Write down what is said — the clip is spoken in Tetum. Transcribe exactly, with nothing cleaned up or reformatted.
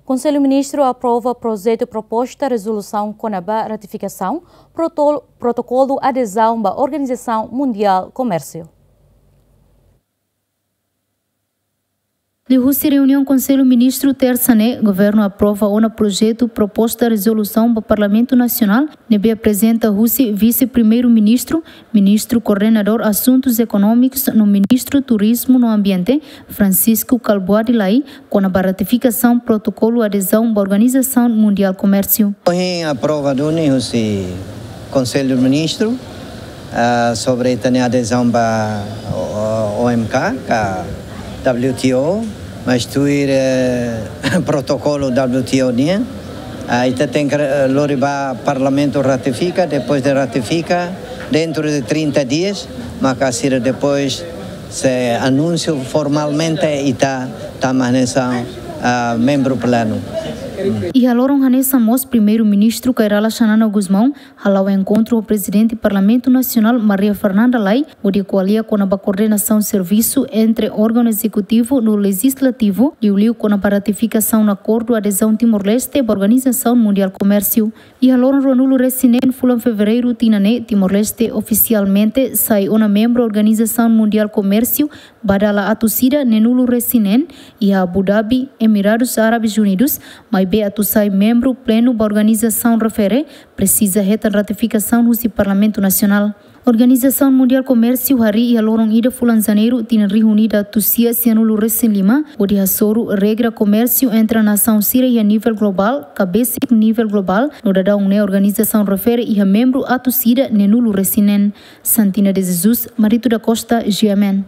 Konsellu Ministru aprova projetu proposta rezolusaun kona-ba ratifikasaun protol-, protokolu adezaun ba Organizasaun Mundiál Komérsiu. Liuhusi reuniaun Konsellu Ministru tersa ne'e, Governu aprova ona projetu proposta rezolusaun ba Parlamentu Nasionál, ne'ebé aprezenta husi Vise-Primeiru-Ministru, Ministru Koordenadór Asuntus Ekonómikus no Ministru Turizmu no Ambiente, Francisco Kalbuadi Lay, kona-ba ratifikasaun protokolu adezaun ba Organizasaun Mundiál Komérsiu. Ohin aprova duni husi Konsellu Ministru, ah, sobre ita-nia adezaun ba O-, O M K, ka W T O, mas tuir, eh, protokolu W T O nian. Ah, ita tenke, eh, lori ba Parlamentu ratifika, depois de ratifika, dentro de trinta dias, maka sira depois sei anunsiu formalmente ita tama hanesan, ah, membru plenu. Iha loron hanesan mós Primeiru-Ministru Kay Rala Xanana Gusmão hala'o enkontru ho Prezidente Parlamentu Nasionál Maria Fernanda Lay, hodi ko'alia kona-ba koordenasaun servisu entre órgaun ezekutivu no lejizlativu, liuliu kona-ba ratifikasaun akordu adezaun Timor-Leste ba Organizasaun Mundiál Komérsiu. Iha loron ruanulu-resin-neen fulan Fevereiru tinan ne'e, Timor-Leste ofisialmente sai ona membru Organizasaun Mundiál Komérsiu ba dala atus ida neenulu-resin-neen, iha Abu Dhabi, Emiradus Árabes Unidus, maibé atu sai membru plenu ba organizasaun refere, presiza hetan ratifikasaun husi Parlamentu Nasionál. Organizasaun Mundiál Komérsiu harii iha loron ida fulan Janeiru tinan rihun ida atus sia sianulu-resin-lima, hodi hasoru regra komérsiu entre nasaun sira iha nivel globál, ka besik nivel globál, no daudaun ne'e organizasaun refere iha membru atus ida neenulu-resin-neen. Santina de Jesus, Marito da Costa, G M N.